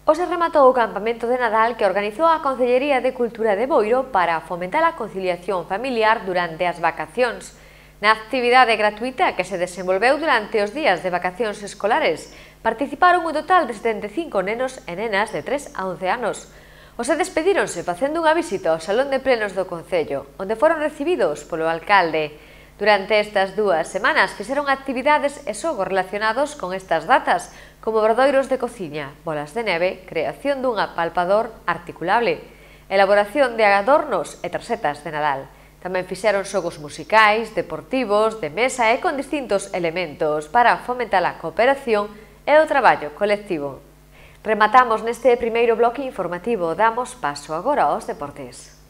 Hoxe rematou o campamento de Nadal que organizou a Concellería de Cultura de Boiro para fomentar a conciliación familiar durante as vacacións. Na actividade gratuita que se desenvolveu durante os días de vacacións escolares, participaron un total de 75 nenos e nenas de 3 a 11 anos. Os despedíronse facendo unha visita ao Salón de Plenos do Concello, onde foron recibidos polo alcalde. Durante estas 2 semanas fixeron actividades e xogos relacionados con estas datas, como verdoiros de cociña, bolas de neve, creación dun apalpador articulable, elaboración de adornos e tarxetas de Nadal. Tamén fixeron xogos musicais, deportivos, de mesa e con distintos elementos para fomentar a cooperación e o traballo colectivo. Rematamos neste primeiro bloque informativo, damos paso agora aos deportes.